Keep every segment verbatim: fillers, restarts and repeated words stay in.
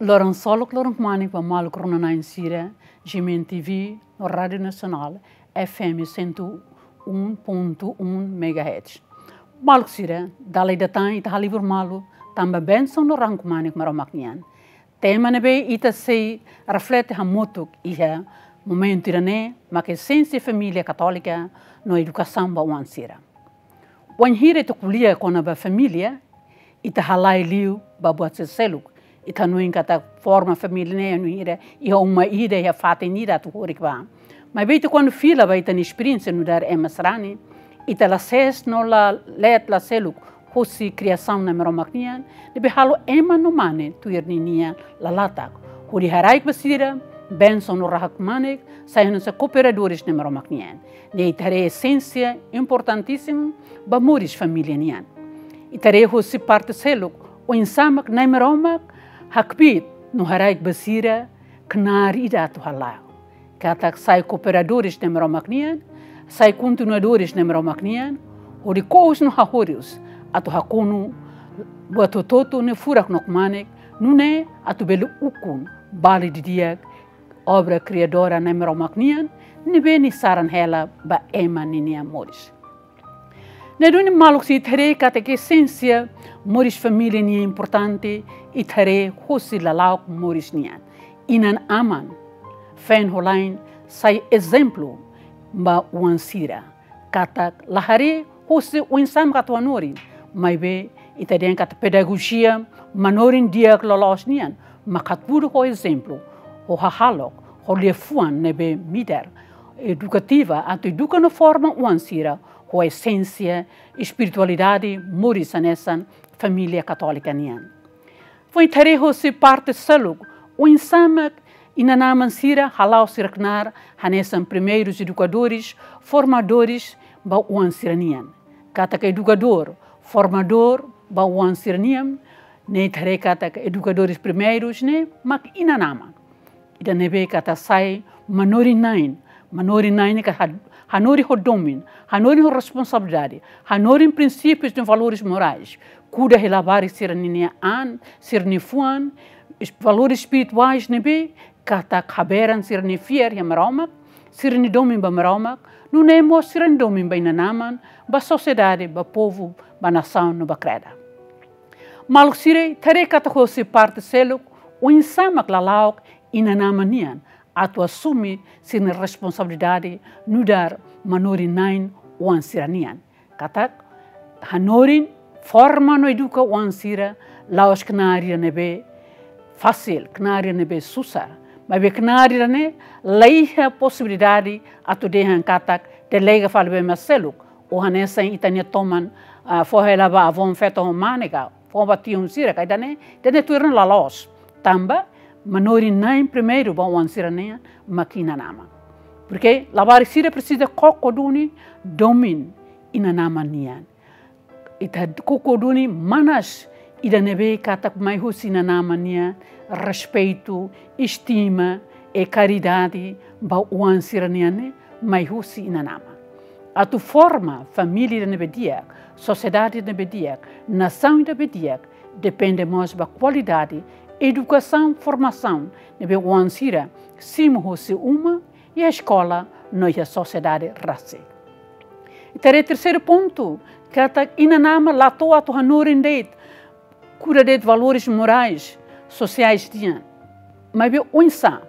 Loron solok, loron kmanek ba maluk rona-na'in sira, G M N T V, no Rádio Nasionál, F M cento um ponto um megahertz. Maluk sira, dala ida tan ita halibur malu, tanba bensaun no rahun kmanek Maromak nian. Tema ne'ebé ita sei reflete hamutuk iha momentu ida-ne'e, mak esénsia família katólika no edukasaun ba oan sira. Wainhira ita ko'alia kona-ba família, ita halai liu ba buat sira seluk. Ita hanoin katak forma família ne'e wainhira iha uma ida, iha fatin ida atu horik ba. Maibé ita kuandu fila ba ita-nia esperiénsia nu'udar ema sarani, ita la ses no la leet la seluk husi kriasaun Nai Maromak nian, ne'ebé halo ema no mane tuir ninia lalatak. Hodi haraik ba sira bensaun no rahun kmanek, sai hanesan kooperadores Nai Maromak nian. Ne'e ita haree esénsia importantísimu ba moris família nian. Ita haree husi parte seluk, oinsá mak Nai Maromak hakbiit no haraik ba sira knaar ida atu hala'o. Katak sai kooperadores Nai Maromak nian, sai kontinuadores Nai Maromak nian, hodi kous no hahorius atu hakonu buat hotu-hotu ne'e furak no kmanek, nune'e atu bele ukun vale didi'ak obra kriadora Nai Maromak nian, ne'ebé nia saran hela ba ema ninia moris. Ne'e duni maluk sira, ita haree katak esénsia moris família nian importante, ita haree husi lala'ok moris nian. Inan-aman, feen ho la'en, sai ezemplu ba oan sira. Katak la haree husi oinsá mak atu hanorin, maibé ita dehan katak pedagojia manorin di'ak loloos nian, mak hatudu ho ezemplu, ho hahalok, ho liafuan ne'ebé midar, edukativa, atu eduka no forma oan sira ho esénsia espiritualidade moris hanesan família katólika nian. Foin ita haree husi parte seluk, oinsá mak inan-aman sira hala'o sira knaar hanesan primeirus edukadores, formadores ba oan sira nian. Katak edukadór, formadór ba oan sira nian, ne'e ita haree katak edukadores primeirus ne'e mak inan-aman. Ida ne'ebé katak sai manorin-na'in, manorin-na'in ne'e katak ha-, hanorin ho domin, hanorin ho responsabilidade, hanorin prinsípius no valores morais, kuda hela labarik sira-ninia an, sira-nia fuan, es-, valores espirituais ne'ebé katak haberan sira-nia fiar iha Maromak, sira-nia domin ba Maromak, nune'e mós sira-nia domin ba inan-aman, ba sosiedade, ba povu, ba nasaun no ba kreda. Maluk sira, ita haree katak husi parte seluk, oinsá mak lala'ok inan-aman nian atu asume sira-nia responsabilidade nu'udar manorin-na'in oan sira nian. Katak hanorin, forma no eduka oan sira la'ós knaar ida ne'ebé fasil, knaar ida ne'ebé susar. Maibé knaar ida ne'e la iha posibilidade atu dehan katak delega fali ba ema seluk, ou hanesan ita-nia toman, ah, fó hela ba avón feto ho mane ka, fó ba tiun sira ka, ida-ne'e, ida-ne'e tuir ne'e la loos. Tanba manorin-na'in primeiru ba oan sira-nian mak inan-aman. Porke labarik sira presiza koko duni domin inan-aman nian. Ita koko duni manas ida ne'ebé katak mai husi inan-aman nian, respeitu, estima, i karidade ba oan sira-nian ne'e mai husi inan-aman. Atu forma família ida ne'ebé di'ak, sosiedade ida ne'ebé di'ak, nasaun ida ne'ebé di'ak, depende mós ba kualidade edukasaun, formasaun ne'ebé oan sira simu husi uma, iha eskola no iha sosiedade rasik. Ita haree terseiru pontu, katak inan-aman la to'o atu hanorin de'it, kuda de'it valores morais, sosiais nian. Maibé oinsá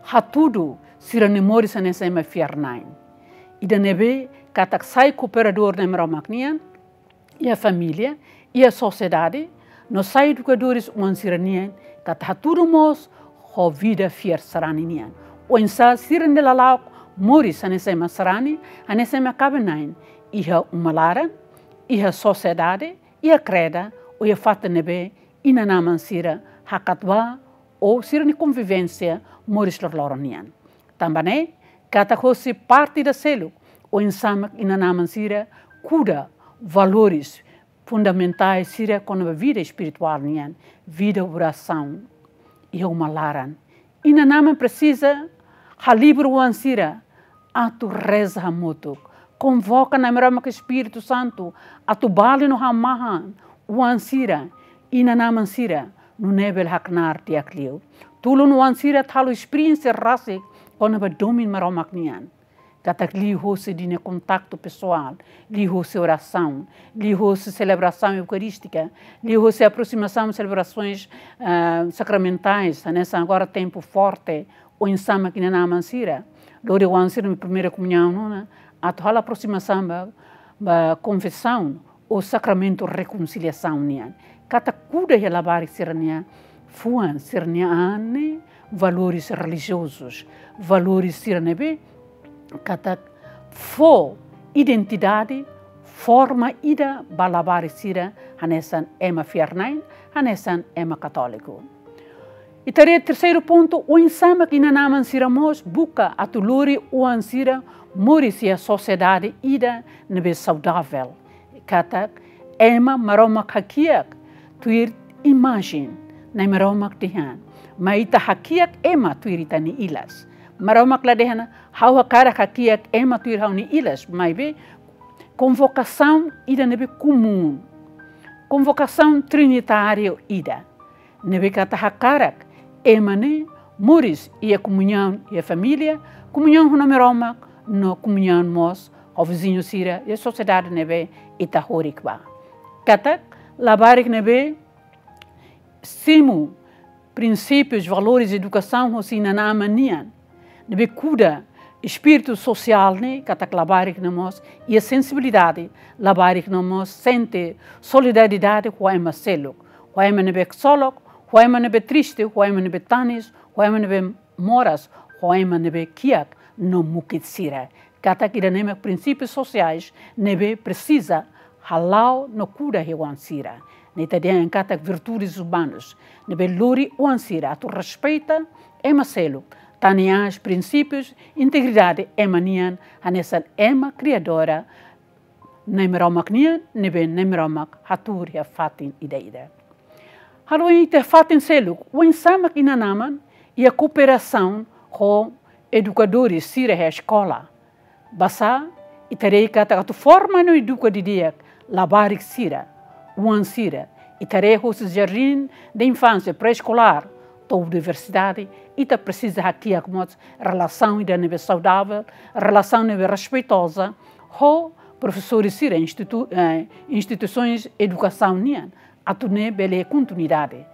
hatudu sira-nia moris hanesan ema fiar-na'in. Ida ne'ebé katak sai kooperadór Nai Maromak nian, iha família, iha sosiedade, no sai edukadores oan sira-nian, katak hatudu mós ho vida fiar sarani nian. Oinsá sira-nia lala'ok moris hanesan ema sarani, hanesan ema kaben-na'in, iha uma laran, iha sosiedade, iha kreda, ou iha fatin ne'ebé inan-aman sira hakat ba, ou sira-nia konvivénsia moris loroloron nian. Tanba ne'e, katak hosi parte ida seluk, oinsá mak inan-aman sira kuda valores fundamentais sira kona-ba vida espirituál nian, vida orasaun iha uma laran. Inan-aman presiza halibur oan sira atu reza hamutuk. Konvoka Nai Maromak Espíritu Santu atu bali no hamahan oan sira, inan-aman sira, nune'e bele haknaar di'ak liu. Tulun oan sira atu halo esperiénsia rasik kona-ba domin Maromak nian. Katak liuhosi ninia kontaktu pesoál, liuhosi orasaun, liuhosi selebrasaun eukarístika, liuhosi aproximasaun selebrasoens, ah, sakramentais, hanesan agora tempu forte, oinsá mak inan-aman sira lori oan sira-nia primeira komuñaun ona, atu halo aproximasaun ba, ba konfesaun ou sakramentu rekonsiliasaun nian. Katak kuda iha labarik sira-nia fuan, sira-nia an ne'e valores relijiozus, valores sira ne'ebé katak fó identidade, forma ida ba labarik sira hanesan ema fiar-na'in, hanesan ema katóliku. Ita haree terseiru pontu, oinsá mak inan-aman sira mós buka atu lori oan sira moris iha sosiedade ida ne'ebé saudavel. Katak ema Maromak hakiak tuir imajen Na'i Maromak dehan. Mai ita hakiak ema tuir ita-nia ilas. Maromak la dehan, ha'u hakarak hakiak ema tuir ha'u-nia ilas, maibé konvokasaun ida ne'ebé komún. Konvokasaun trinitáriu ida. Ne'ebé katak hakarak ema ne'e moris iha komuñaun iha família, komuñaun ho Na'i Maromak, no komuñaun mós ho viziñu sira iha sosiedade ne'ebé ita horik ba. Katak labarik ne'ebé simu prinsípius, valores, edukasaun hosi inan-aman nian, ne'ebé kuda espíritu sosiál ne'e, katak labarik ne'e mós iha sensibilidade, labarik ne'e mós sente solidariedade ho ema seluk, ho ema ne'ebé ksolok, ho ema ne'ebé triste, ho ema ne'ebé tanis, ho ema ne'ebé moras, ho ema ne'ebé kiak no mukit sira. Katak ida-ne'e mak prinsípius sosiais ne'ebé presiza hala'o no kuda iha oan sira. Ne'e ita dehan katak virtudes umanas, ne'ebé lori oan sira atu respeita ema seluk, tane aas prinsípius integridade ema nian, hanesan ema kriadora Na'i Maromak nian, ne'ebé Na'i Maromak hatuur iha fatin ida-idak. Halo ita fatin seluk, oinsá mak inan-aman iha kooperasaun ho edukadores sira iha eskola. Basá, ita haree katak atu forma no eduka didi'ak labarik sira, oan sira, ita haree hosi jardín de infância, pré-eskolár, to'o universidade, ita presiza hakiak mós relasaun ida ne'ebé saudavel, relasaun ne'ebé respeitoza, ho profesores sira, institu-, eh, instituisoens edukasaun nian, atu nune'e bele kontinuidade.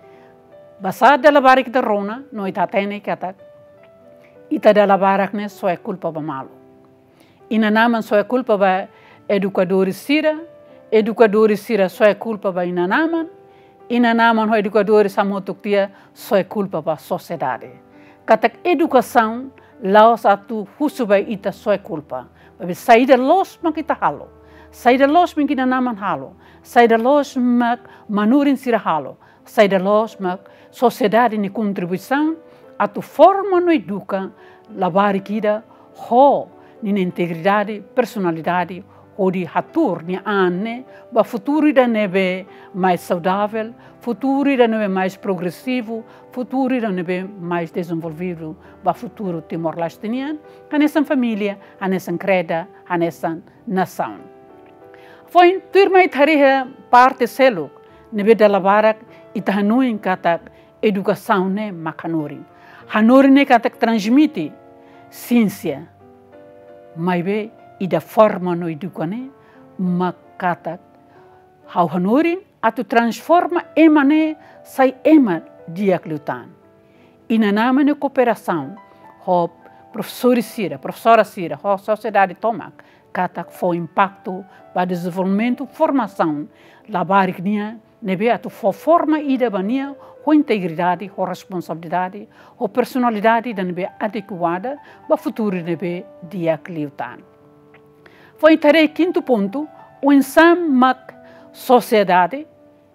Basá dala barak ita rona, no ita hatene katak ita dala barak ne'e soe kulpa ba malu. Inan-aman soe kulpa ba edukadores sira, edukadores sira soe kulpa ba inan-aman, inan-aman ho edukadores hamutuk tiha soe kulpa ba sosiedade. Katak edukasaun la'ós atu husu ba ita soe kulpa. Maibé saida loos mak ita halo, saida loos mak inan-aman halo, saida loos mak manorin sira halo, saida loos mak sosiedade nia kontribuisaun atu forma no eduka labarik ida ho ninia integridade, personalidade, hodi hatuur nia an ne'e ba futuru ida ne'ebé mais saudavel, futuru ida ne'ebé mais progresivu, futuru ida ne'ebé mais dezenvolvidu ba futuru Timor-Leste nian, hanesan família, hanesan kreda, hanesan nasaun. Foin tuirmai ita haree iha parte seluk ne'ebé dala barak ita hanoin katak edukasaun ne'e mak hanorin. Hanorin ne'e katak transmite siénsia. Maibé ida forma no eduka ne'e mak katak ha'u hanorin atu transforma ema ne'e sai ema di'ak liután. Inan-aman nia kooperasaun ho profesores sira, profesora sira, ho sosiedade tomak, katak fó impaktu ba dezenvolvimentu, formasaun labarik nian, ne'ebé atu fó forma ida ba nia ho integridade, ho responsabilidade, ho personalidade ida ne'ebé adekuada ba futuru ne'ebé di'ak liután. Foin ita haree kintu pontu, oinsá mak sosiedade,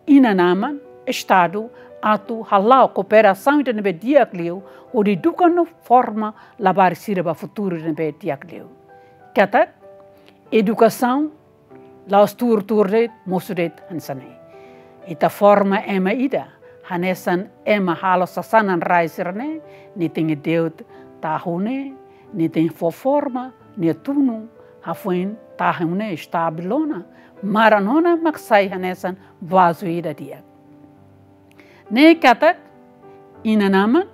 inan-aman, Estadu, atu hala'o kooperasaun ida ne'ebé di'ak liu, hodi eduka no forma labarik sira ba futuru ne'ebé di'ak liu. Katak edukasaun la'ós tuur-tuur de'it, mosu de'it hanesan ne'e. Ita forma ema ida hanesan ema halo sasanan rai sira-ne'e, nia tenke de'ut tahu ne'e, nia tenke fó forma, nia tunu, hafoin tahu ne'e estabil ona, maran ona mak sai hanesan vazu ida di'ak. Ne'e katak, inan-aman,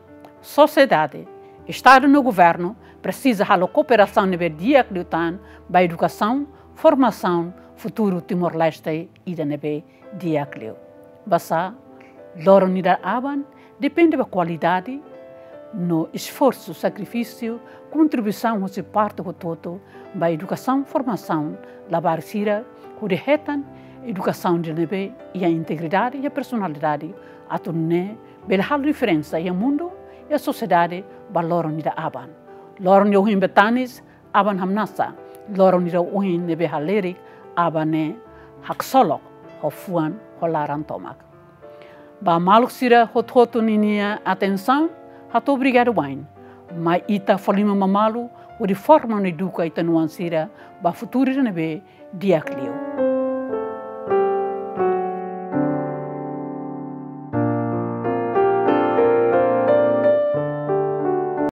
sosiedade, Estadu no governu presiza halo kooperasaun ne'ebé di'ak liután ba edukasaun, formasaun futuru Timor-Leste ida ne'ebé di'ak liu. Basá, loron ida aban depende ba kualidade no esforsu, sakrifísiu, kontribuisaun husi parte hotu-hotu ba edukasaun, formasaun labarik sira, hodi hetan edukasaun ida ne'ebé iha integridade iha personalidade, atu nune'e bele halo diferensa iha mundu, iha sosiedade ba loron ida aban. Loron ida ohin be tanis, aban hamnasa, loron ida ohin ne'ebé halerik, aban ne'e haksolok ho fuan ho laran tomak. Ba maluk sira hotu-hotu ninia atensaun, hato'o obrigadu wa'in. Mai ita fó liman ba malu, hodi forma no eduka ita-nia oan sira ba futuru ida ne'ebé di'ak liu.